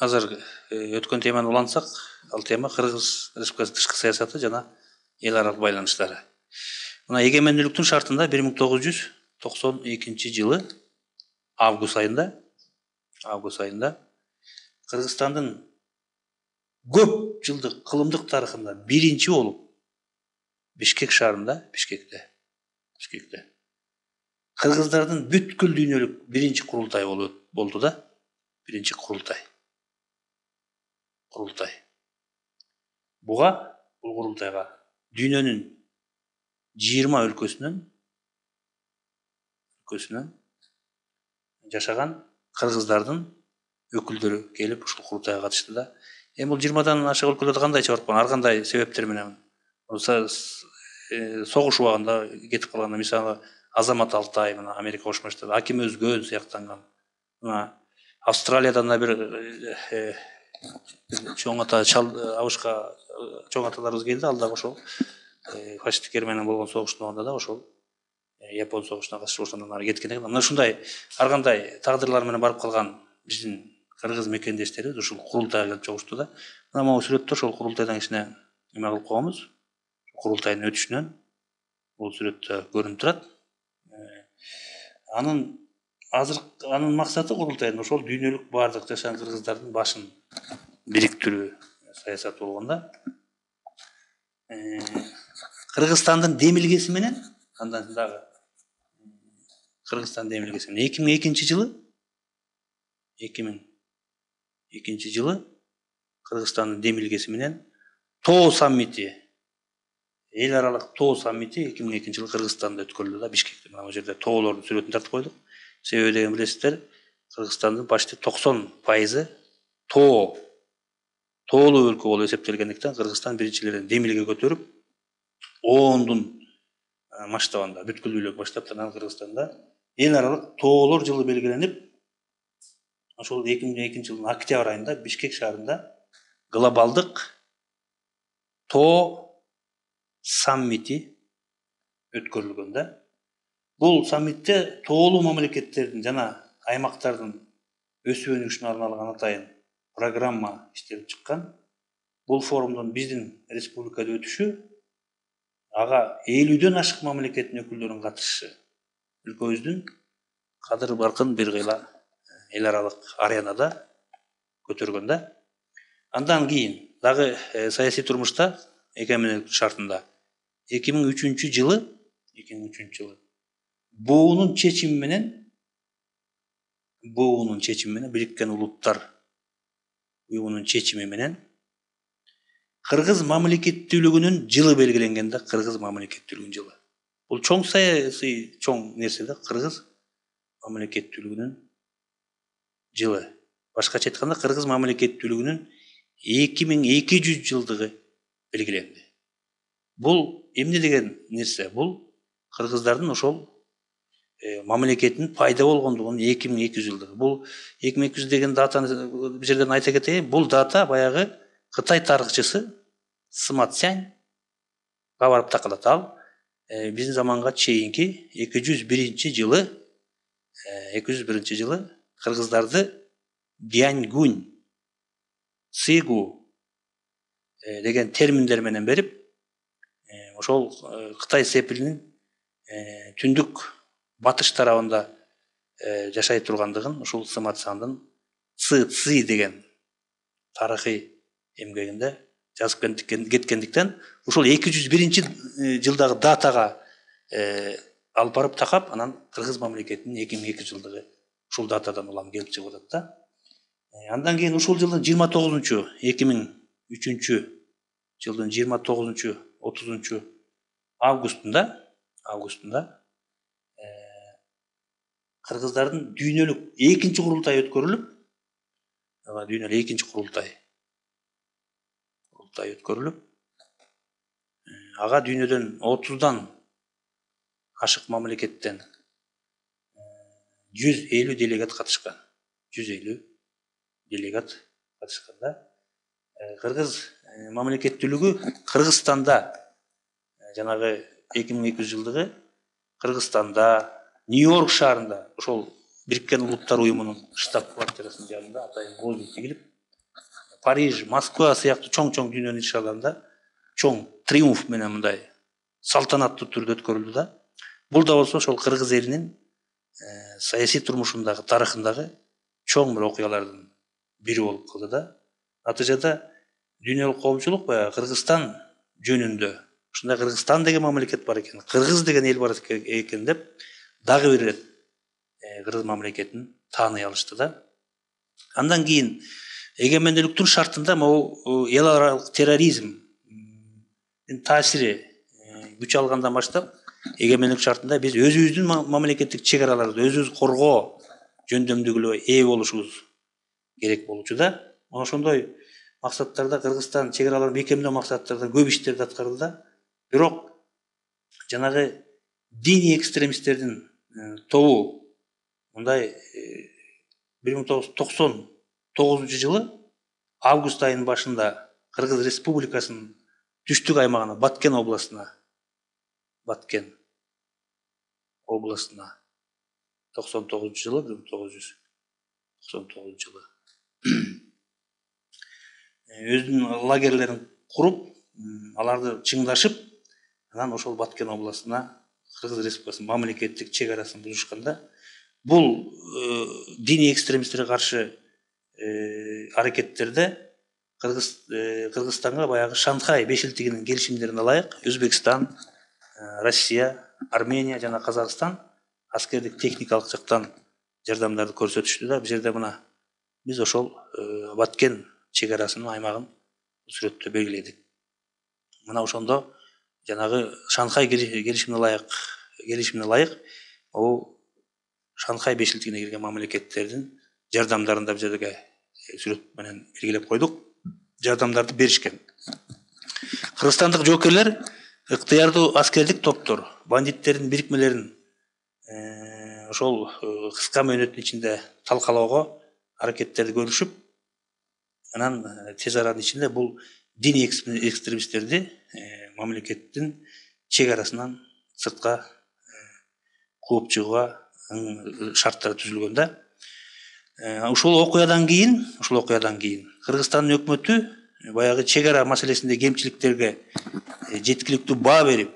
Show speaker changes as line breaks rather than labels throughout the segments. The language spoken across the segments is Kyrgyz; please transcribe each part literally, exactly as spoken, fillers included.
азыр өткөн теманы улантсак, ал тема Кыргыз Республикасынын тышкы саясаты жана эл аралык байланыштары. Мына эгемендүүлүктүн шартында бир миң тогуз жүз токсон экинчи жылы август айында август айында Кыргызстандын көп жылдык кылымдык тарыхында биринчи болуп Бишкек шаарында, Бишкекте, Бишкекте кыргыздардын бүткүл дүйнөлүк биринчи курултай болду да, биринчи курултай. Курултай. Буга, бул курултайга дүйнөнүн жыйырма өлкөсүнөн өлкөсүнөн жашаган кыргыздардын өкүлдөрү келип ушул курултайга катышты да. Эми бул жыйырмадан ашык өлкөлөрдө кандай чыгарып койгон, ар кандай себептер менен согуш убагында кетип калган, мисалы Азамат Алтай, мына Америка Кошмо Штаттары, Аким Өзгөн сыяктанган. Мына Австралиядан да бир чоң ата абышка чоң аталарыбыз келди, ал дагы ошол фашисттиктер менен болгон согуштун убагында да ошол Япон согушуна катышып ошондон ары кеткен экен. Мына ушундай ар кандай тагдырлар менен барып калган биздин кыргыз мекендештерибиз ушул курултайга келип чогушту да. Мына могу сүрөттө ошол курултайдан кичине эме кылып койгонбуз. Курултайдын өтүшүнөн бул сүрөттө көрүнүп турат. Анын азыр анын максаты курултайдын ошол дүйнөлүк баардык жашаган кыргыздардын башын бириктирүү саясаты болгон да. Кыргызстандын демилгеси менен андан дагы Кыргызстан демилгеси менен эки миң экинчи жылы эки миң экинчи жылы Кыргызстандын демилгеси менен Тоо саммити, эл аралык Тоо саммити эки миң экинчи жылы Кыргызстанда өткөрүлдү да, Бишкекте. Мына бул жерде тоолордун сүрөтүн тартып койдук. Себеби деген билесиздер, Кыргызстандын почти токсон пайызы тоо, тоолуу өлкө болуп эсептелгендиктен Кыргызстан биринчилерден демилге көтөрүп, ондун масштабында, бүткүл дүйнөлүк масштабта Кыргызстанда эл аралык тоолор жылы белгиленип, ошол эки миң экинчи жылдын октябрь айында Бишкек шаарында глобалдык Тоо саммити өткөрүлгөн да. Бул саммитте тоолуу мамлекеттердин жана аймактардын өсүп өнүгүшүнө арналган атайын программа иштелип чыккан. Бул форумдун биздин республикада өтүшү, ага элүүдөн ашык мамлекеттин өкүлдөрүнүн катышышы өлкөбүздүн кадыр баркын бир кыйла эл аралык аренада көтөргөн да. Андан кийин дагы саясий турмушта эгемендүүлүк шартында эки миң үчүнчү жылы эки миң үчүнчү жылы буунун чечими менен буунун чечими менен Бириккен Улуттар уюмунун чечими менен Кыргыз мамлекеттүүлүгүнүн жылы белгиленген да, Кыргыз мамлекеттүүлүгүнүн жылы. Бул чоң саясий чоң нерсе да, Кыргыз мамлекеттүүлүгүнүн жылы. Башкача айтканда, Кыргыз мамлекеттүүлүгүнүн эки миң эки жүз жылдыгы белгиленди. Бул эмне деген нерсе? Бул кыргыздардын ошол мамлекеттин пайда болгондугунун эки миң эки жүз жылдыгы. Бул эки миң эки жүз деген датаны бир жерден айта кетейин. Бул дата баягы Кытай тарыхчысы Сыма Цзяньга барып такалат. Ал биздин заманга чейинки эки жүз биринчи жылы эки жүз биринчи жылы кыргыздарды Дяньгунь, Цигу деген терминдер менен берип, ошол Кытай сепилинин түндүк батыш тарабында жашай тургандыгын ушул Сыма Цзяньдын Ци Ци деген тарыхый эмгегинде жазып кеткендиктен ушул эки жүз биринчи жылдагы датага алып барып такап, анан Кыргыз мамлекетинин эки миң эки жүз жылдыгы ушул датадан улам келип чыгып атат да. Андан кийин ушул жылдын жыйырма тогузунчу эки миң үчүнчү жылдын жыйырма тогузунчу отузунчу августунда августунда кыргыздардын дүйнөлүк экинчи курултай өткөрүлүп, дүйнөлүк экинчи курултай курултай өткөрүлүп, ага дүйнөдөн отуздан ашык мамлекеттен жүз элүү делегат катышкан. жүз элүү делегат катышканда, Кыргыз мамлекеттүүлүгү Кыргызстанда жанагы эки миң эки жүз жылдыгы Кыргызстанда, Нью-Йорк шаарында ошол Бириккен Улуттар уюмунун штаб квартирасынын жанында атайын боз үй тигилип, Париж, Москва сыяктуу чоң-чоң дүйнөнүн иш чараларында чоң триумф менен мындай салтанаттуу түрдө өткөрүлдү да. Бул да болсо ошол кыргыз элинин саясий турмушундагы, тарыхындагы чоң бир окуялардын бири болуп калды да. Натыйжада дүйнөлүк коомчулук баягы Кыргызстан жөнүндө ушундай Кыргызстан деген мамлекет бар экен, кыргыз деген эл бар экен деп дагы бир ирет кыргыз мамлекетин тааный алышты да. Андан кийин эгемендүүлүктүн шартында могу эл аралык терроризм таасири күч алгандан баштап эгемендүүлүк шартында биз өзүбүздүн мамлекеттик чек араларды өзүбүз коргоо жөндөмдүгүнө ээ болушубуз керек болчу да. Ошондой максаттарда Кыргызстан чек араларын бекемдөө максаттарда көп иштерди аткарды да. Бирок жанагы диний экстремисттердин тобу мындай бир миң тогуз жүз токсон тогузунчу жылы август айынын башында Кыргыз Республикасынын түштүк аймагына, Баткен областына, Баткен областына токсон тогузунчу жылы, бир миң тогуз жүз токсон тогузунчу жылы өзүнүн лагерлерин куруп, аларды чыңдашып, анан ошол Баткен областына Кыргыз Республикасынын мамлекеттик чек арасын бузушканда, бул диний экстремисттерге каршы аракеттерде Кыргыз Кыргызстанга баягы Шанхай бешилтигинин келишимдерине ылайык Өзбекстан, Россия, Армения жана Казакстан аскердик техникалык жактан жардамдарды көрсөтүштү да. Бул жерде мына биз ошол Баткен чек арасынын аймагын сүрөттө белгиледик. Мына ошондо жанагы Шанхай келишимине ылайык келишимине ылайык бул Шанхай бешилтигине кирген мамлекеттердин жардамдарын да бул жерге сүрөт менен белгилеп койдук. Жардамдарды беришкен. Кыргызстандык жоокерлер ыктыярдуу аскердик топтор, бандиттердин бирикмелерин ошол кыска мөөнөттүн ичинде талкалоого аракеттерди көрүшүп, анан тез аранын ичинде бул диний экстремисттерди мамлекеттин чек арасынан сыртка кууп чыгууга шарттар түзүлгөн да. Ушул окуядан кийин, ушул окуядан кийин Кыргызстандын өкмөтү баягы чек ара маселесинде кемчиликтерге жеткиликтүү баа берип,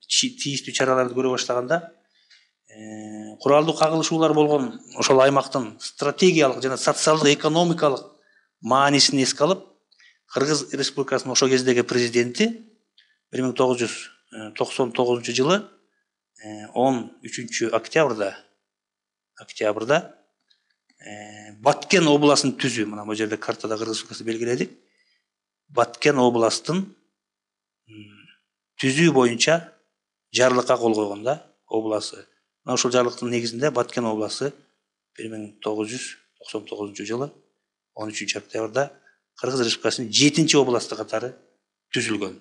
тийиштүү чараларды көрө баштаганда, куралдуу кагылышуулар болгон ошол аймактын стратегиялык жана социалдык экономикалык маанисин эске алып, Кыргыз Республикасынын ошол кездеги президенти бир миң тогуз жүз токсон тогузунчу жылы он үчүнчү октябрда октябрда Баткен областын түзүү, мына бул жерде картада Кыргыз Республикасы белгиледик. Баткен областын түзүү боюнча жарлыкка кол койгон да обласы. Мына ошол жарлыктын негизинде Баткен обласы бир миң тогуз жүз токсон тогузунчу жылы он үчүнчү октябрда Кыргыз Республикасынын жетинчи областы катары түзүлгөн.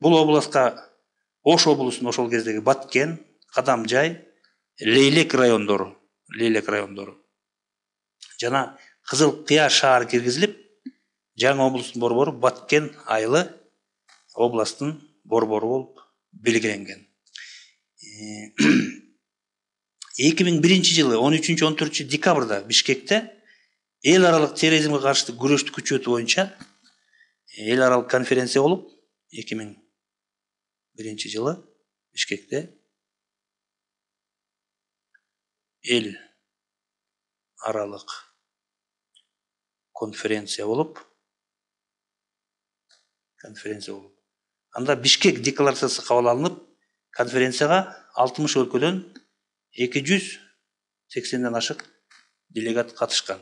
Бул областка Ош облусунун ошол кездеги Баткен, Кадамжай, Лейлек райондору, Лейлек райондору жана Кызыл Кыя шаары киргизилип, жаңы облустун борбору Баткен айылы областын борбору болуп белгиленген. эки миң биринчи жылы он үчүнчү он төртүнчү декабрда Бишкекте эл аралык терроризмге каршы күрөштү күчөтүү боюнча эл аралык конференция болуп, эки миң биринчи жылы Бишкекте эл аралык конференция болуп, конференция болуп. Анда Бишкек декларациясы кабыл алынып, конференцияга алтымыш өлкөдөн эки жүз сексенден ашык делегат катышкан.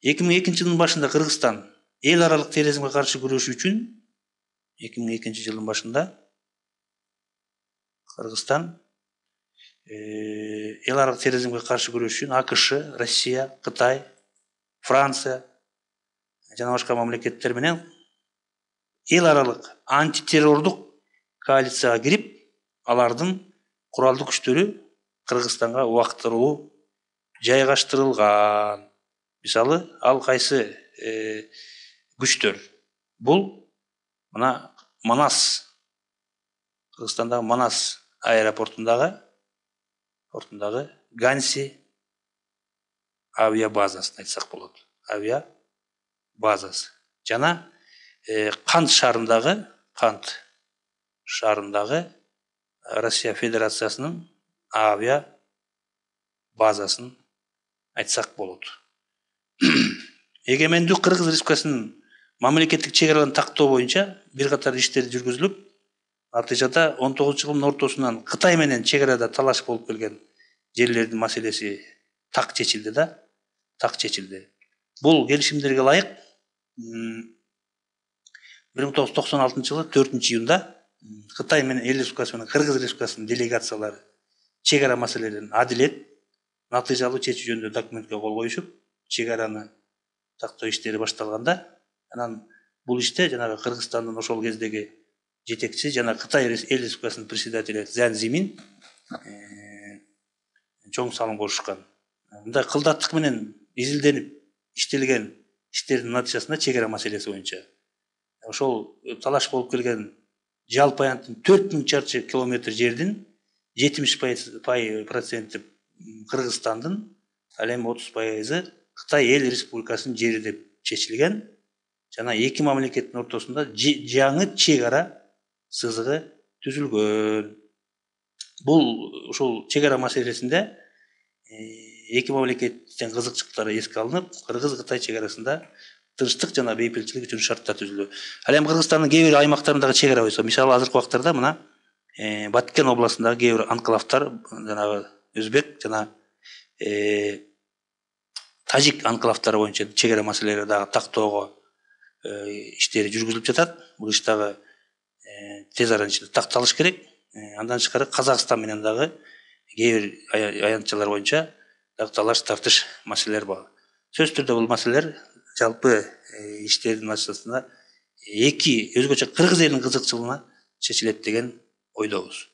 эки миң экинчи жылдын башында Кыргызстан эл аралык терроризмге каршы күрөшүү үчүн эки миң экинчи жылдын башында Кыргызстан эл аралык терроризмге каршы күрөшүү үчүн АКШ, Россия, Кытай, Франция жана башка мамлекеттер менен эл аралык антитеррордук коалицияга кирип, алардын куралдуу күчтөрү Кыргызстанга убактылуу жайгаштырылган. Мисалы, ал кайсы күчтөр? Бул мына Манас, Кыргызстандагы Манас аэропортундагы портундагы Ганси авиабазасын айтсак болот. Авиа базасы жана Кант шаарындагы Кант шаарындагы Россия Федерациясынын авиа базасын айтсак болот. Эгемендүү Кыргыз Республикасынын мамлекеттик чек араларын тактоо боюнча бир катар иштер жүргүзүлүп, натыйжада он тогузунчу жылдын ортосунан Кытай менен чек арада талаш болуп келген жерлердин маселеси так чечилди да, так чечилди. Бул келишимдерге ылайык бир миң тогуз жүз токсон алтынчы жылы төртүнчү июнда Кытай менен Эл Республикасы менен Кыргыз Республикасынын делегациялары чек ара маселелерин адилет, натыйжалуу чечүү жөнүндө документке кол коюшуп, чек араны тактоо иштери башталганда, анан бул иште жанагы Кыргызстандын ошол кездеги жетекчиси жана Кытай Эл Республикасынын председатели Цзян Зимин чоң салым кошушкан. Мындай кылдаттык менен изилденип иштелген иштердин натыйжасында чек ара маселеси боюнча ошол талаш болуп келген жалпы аянттын төрт миң чарчы километр жердин жетимиш проценти Кыргызстандын, ал эми отуз пайызы Кытай Эл Республикасынын жери деп чечилген жана эки мамлекеттин ортосунда жаңы чек ара сызыгы түзүлгөн. Бул ушул чек ара маселесинде эки мамлекеттин кызыкчылыктары эске алынып, Кыргыз-Кытай чек арасында тынчтык жана бейпилчилик үчүн шарттар түзүлдү. Ал эми Кыргызстандын кээ бир аймактарындагы чек ара бойдон, мисалы азыркы убактарда мына Баткен областындагы кээ бир анклавдар, жанагы өзбек жана тажик анклавдары боюнча чек ара маселелери дагы тактоого иштери жүргүзүлүп жатат. Бул иш дагы тез аранын ичинде такталыш керек. Андан тышкары Казакстан менен дагы кээ бир аянтчалар боюнча дагы талаш тартыш маселелер бар. Сөзсүз түрдө бул маселелер жалпы иштердин натыйжасында эки өзгөчө Кыргыз элинин кызыкчылыгына чечилет деген ойдобуз.